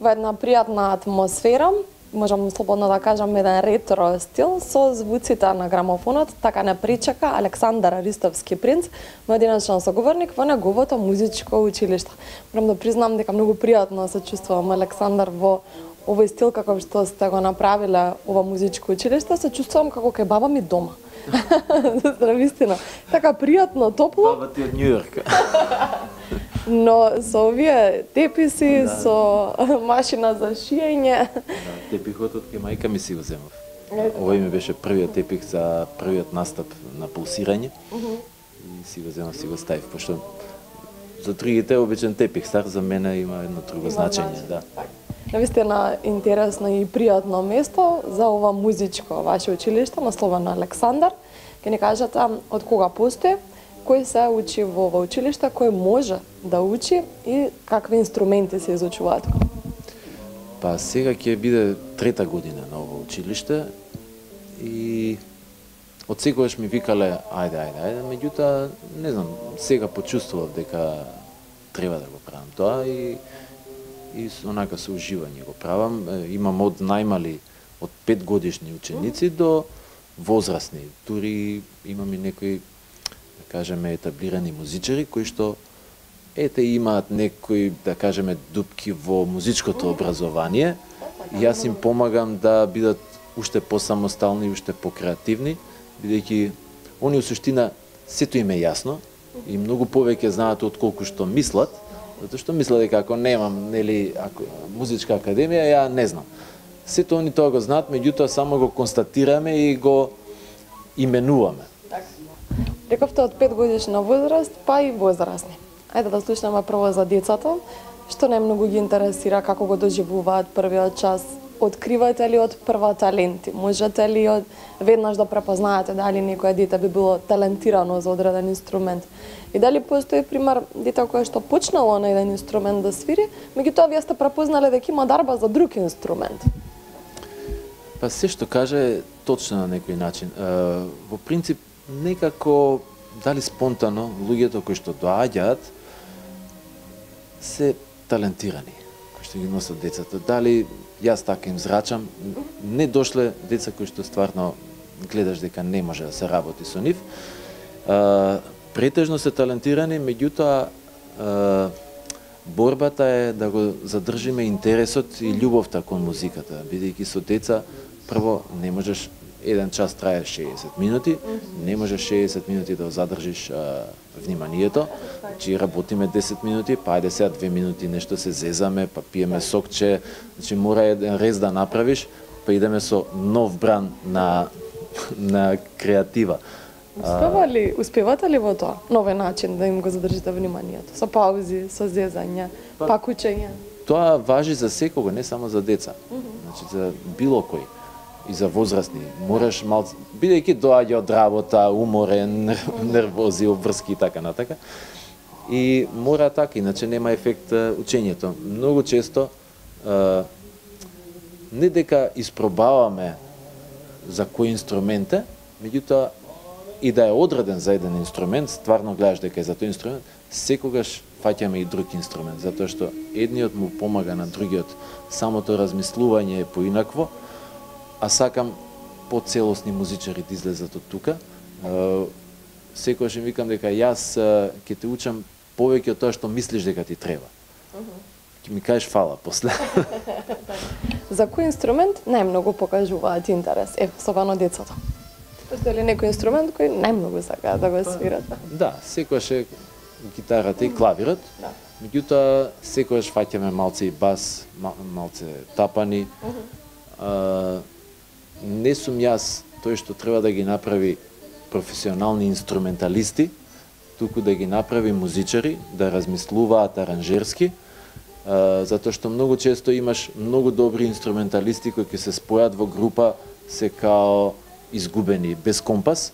во една пријатна атмосфера, можам слободно да кажам еден ретро стил со звуците на грамофонот, така не причека Александар Аристовски принц, мој денешен соговорник во неговото музичко училиште. Морам да признам дека многу пријатно се чувствувам, Александар, во овој стил како што сте го направиле ова музичко училиште, се чувствувам како кај баба ми дома. Вистина. Така пријатно, топло. Баба ти од Њујорк. Но со овие теписи, со машина за шиење. Да, тепихот од кај мајка ми си го земав. Овој ми беше првиот тепих за првиот настап на пулсирање. И си го земав, си го ставив, пошто за другите обичен тепих, стар за мене има едно друго значење, да. Навистина интересно и пријатно место за ова музичко ваше училиште, насловено Александар. Ке ни кажете од кога постои, кој се учи во ова училиште, кој може да учи и какви инструменти се изучуваат? Па сега ќе биде трета година на ова училиште и од секогаш ми викале ајде, меѓутоа не знам, сега почувствував дека треба да го правам тоа и онака со уживање го правам. Имам од најмали, од 5 годишни ученици до возрастни. Дури имам и некои, да кажеме, етаблирани музичари кои што имаат некои, да кажеме, дупки во музичкото образование и јас им помагам да бидат уште посамостални, уште покреативни, бидејќи они во суштина сето им е јасно и многу повеќе знаат отколку што мислат, затоа што мислат дека ако немам, нели, музичка академија, ја не знам. Сето они тоа го знаат, меѓутоа само го констатираме и го именуваме. Рековте од 5 годишна возраст, па и возрастни. Ајде да слушнеме прво за децата, што најмногу ги интересира, како го доживуваат првиот час. Откривате ли од прва таленти? Можете ли веднаш да препознаете дали некој дете би било талентирано за одреден инструмент? И дали постои пример дете кое што почнало на еден инструмент да свири, меѓутоа вие сте препознале дека има дарба за друг инструмент? Па се што каже е точно на некој начин. Во принцип, некако, дали спонтано, луѓето кои што доаѓаат се талентирани, кои што ги носат децата. Дали јас така им зрачам, не дошле деца кои што стварно гледаш дека не може да се работи со нив. Претежно се талентирани, меѓутоа борбата е да го задржиме интересот и љубовта кон музиката, бидејќи со деца прво не можеш еден час трае 60 минути, не можеш 60 минути да го задржиш вниманието, значи работиме 10 минути, па ајде сега 2 минути нешто се зезаме, па пиеме сокче, значи мора еден рез да направиш, па идеме со нов бран на креатива. Успевате ли во тоа? Нови начин да им го задржите вниманието? Со паузи, со зезање, пак учење? Тоа важи за секого, не само за деца. Значи за било кој. И за возрастни. Мораш малку, бидејќи доаѓа од работа, уморен, нервози, обврски и така натака. И мора така, иначе нема ефект учењето. Многу често не дека испробаваме за кој инструмент е, меѓутоа и да е одреден за еден инструмент, стварно гледаш дека е за тој инструмент, секогаш фаќаме и друг инструмент, затоа што едниот му помага на другиот. Самото размислување е поинакво, а сакам поцелосни музичари да излезат од тука. Секогаш им викам дека јас ќе те учам повеќе од тоа што мислиш дека ти треба. Ќе ми кажеш фала после. За кој инструмент најмногу покажуваат интерес, особено децата? Постои ли некој инструмент кој најмногу сакаат да го свират? Да, секогаш е гитарата и клавирот. Меѓутоа секогаш фаќаме малце и бас, малце тапани. Не сум јас тој што треба да ги направи професионални инструменталисти, туку да ги направи музичари, да размислуваат аранжерски, затоа што многу често имаш многу добри инструменталисти кои ќе се спојат во група, се као изгубени, без компас.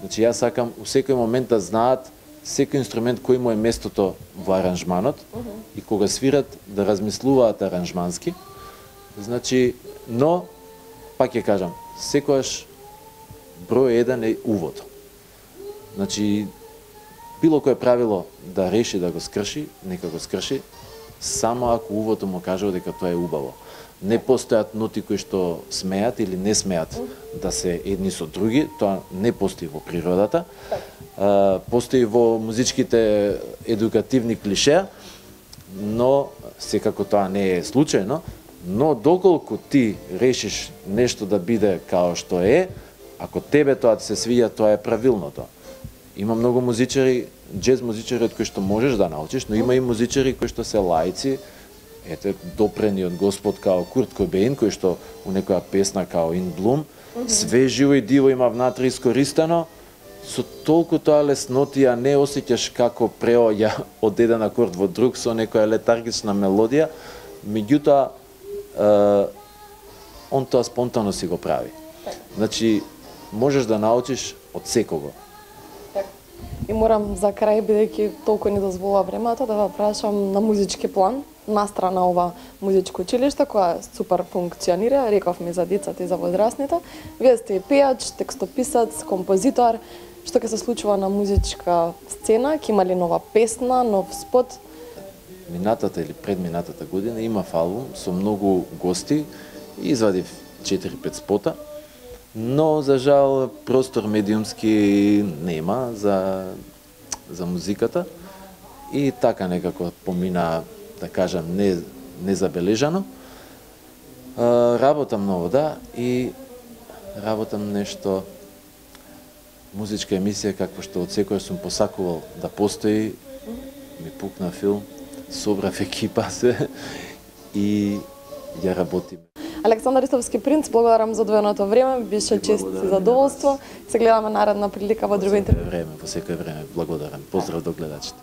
Значи јас сакам у секој момент да знаат секој инструмент кој му е местото во аранжманот и кога свират да размислуваат аранжмански. Значи, но пак ќе кажам, секогаш број 1 е увод. Значи, било кое правило да реши да го скрши, нека го скрши, само ако увото му каже дека тоа е убаво. Не постојат ноти кои што смеат или не смеат да се едни со други, тоа не постои во природата. Постои во музичките едукативни клишеа, но секако тоа не е случајно, но доколку ти решиш нешто да биде као што е, ако тебе тоа се свиѓа, тоа е правилното. Има многу музичари, џез музичари од кои што можеш да научиш, но има и музичари кои што се лаици, ете, допрени од Господ као Курт Кобейн, кој што у некоја песна као In Bloom, све живо и диво има внатре искористено, со толку тоа леснотија не осеќаш како преоѓа од еден акорд во друг со некоја летаргична мелодија, меѓутоа он тоа спонтано си го прави. Значи, можеш да научиш од секого. И морам за крај, бидејќи толку ни дозволува времето, да ве прашам на музички план, настрана ова музичко училиште, која супер функционира, рековме за децата и за возрастните. Вие сте пејач, текстописац, композитор. Што ќе се случува на музичка сцена? Ќе има ли нова песна, нов спот? Минатата или предминатата година имав албум со многу гости и извадив 4-5 спота, но за жал простор медиумски нема за музиката и така некако помина, да кажам, незабележано. Работам ново, да, и работам нешто музичка емисија, како што од секој сум посакувал да постои, ми пукна филм, собрав екипа се и ја работиме. Александар Ристовски принц, благодарам за одвоеното време, беше чест и задоволство. Се гледаме наредна прилика во друго интервју. Во секој време, благодарам. Поздрав до гледачите.